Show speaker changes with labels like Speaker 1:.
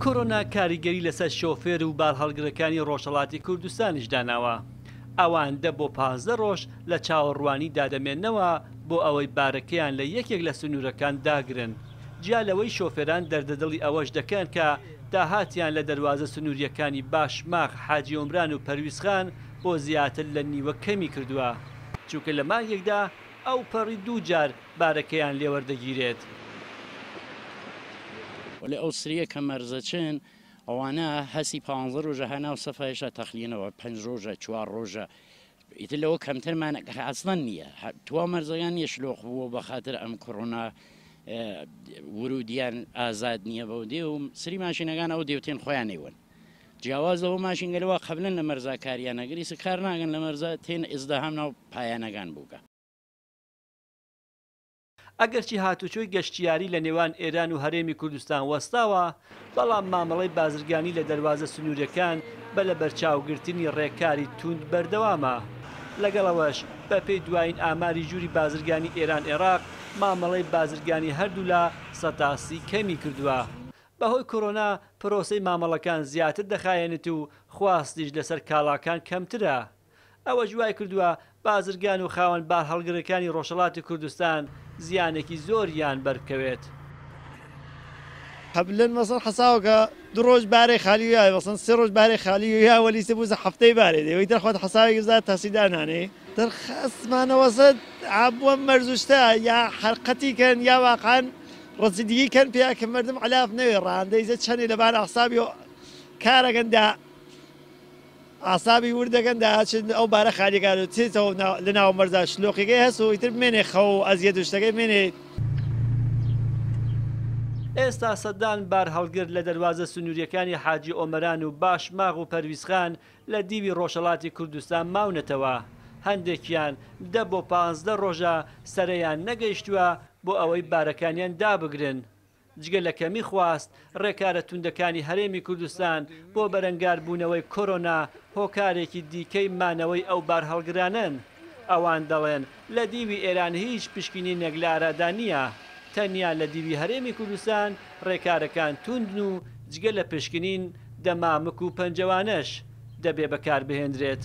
Speaker 1: کۆرۆنا کاریگەری لەسەر شۆفێر و بارهەڵگرەکانی ڕۆژهەڵاتی کوردستانیش داناوە، ئەوان دە بۆ 15 ڕۆژ لە چاوەڕوانیدا دەمێننەوە بۆ ئەوەی بارەکەیان لە یەکێک لە سنوورەکان داگرن، جیا لەوەی شۆفێران دەردەدڵی ئەوەش دەکەن کە داهاتیان لە دەروازە سنوورییەکانی باشماخ، حاجی ئۆمران و پەرویزخان بۆ زیاتر لە نیوە کەمی کردووە، چونکە لە مانگێکدا ئەوپەڕی دوو جار بارەکەیان لێوەردەگیرێت.
Speaker 2: وەلێ ئەو سریە کە مەرزەچن ئەوانە هەسی پانزە ڕۆژە هە ناو سەفا هێشتا تەخلیەنەوە پەنج ڕۆژە چوار ڕۆژە ئیتر لەوە کەمترمان ئەسڵەن نییە توا مەرزەکان نییە شلۆق بووە بە خاتر ئەم کۆرۆنا ورودیان ئازاد نییە بەو دێ و سری ماشینەکان ئەو دێوتێن خۆیان نەیوەن جیاواز لەوە ماشینگەلەوە قبلن لە مەرزا کاریان نەگریس کار ناگەن لە مەرزا تێن ئزدەهام ناو پایانەکان بووگە.
Speaker 1: ئەگەرچی هاتوچۆی گەشتیاری لە نێوان ئێران و هەرێمی کوردستان وەستاوە، بەڵام مامەڵەی بازرگانی لە دەروازە سنوورییەکان بە لەبەرچاوگرتنی ڕێکاری تووند بەردەوامە. لەگەڵ ئەوەش بەپێی دوایین ئاماری ژووری بازرگانی ئێران-عێراق، مامەڵەی بازرگانی هەردوولا 30% کەمی کردووە. بەهۆی کۆرۆنا پرۆسەی مامەڵەکان زیاتر دەخایەنێت و خواستیش لەسەر کاڵاکان کەمترە. ئەوەش وایکردووە بازرگان و خاوەن بارهەڵگرەکانی ڕۆژهەڵاتی کوردستان زیانێکی زۆریان بەربکەوێت.
Speaker 3: قەبلەن مەسەن حەساوەکە دو ڕۆژ بارێ خالی یا مەسەن سێ ڕۆژ بارێ خالی یا وەلی سێ بووزە هەفتەی بارێ دێ وەی دەرخوات حەساوێکی بزا تەسی دانانێ دەرخەستمانەوەسە عابوە مەرزوشتە یا حەرقەتی کەن یا واقعا ڕەسیدگی کەن پیا کە مردم علاف نەوێ ڕانندەیزە چەنێ لەبان ئەحسابی کارەکەن دا ئاسابی ورد دەکەن داچن ئەو بارە خالیەکان و چێتەوە لە ناو مەرزا شلۆقیەکەی هەس و ئیتر بمێنێ خەو و ئەزیەت و شتەکەی بمێنێ.
Speaker 1: ئێستا سەدان بارهەڵگر لە دەروازە سنوورییەکانی حاجی ئۆمەران و باشماغ و پەرویزخان لە دیوی ڕۆژهەڵاتی کوردستان ماونەتەوە، هەندێکیان دە بۆ 15 ڕۆژە سەرەیان نەگەیشتووە بۆ ئەوەی بارەکانیان دابگرن. جگە لە کەمی خواست، ڕێکارە توندەکانی هەرێمی کوردستان بۆ بەرەنگاربوونەوەی کۆرۆنا هۆکارێکی دیکەی مانەوەی ئەو بارهەڵگرانەن. ئەوان دەڵێن، لە دیوی ئێران هیچ پشکنینێک لە ئارادا نییە، تەنیا لە دیوی هەرێمی کوردستان ڕێکارەکان توندن و جگە لە پشکنین، دەمامک و پەنجەوانەش دەبێ بەکاربهێندرێت.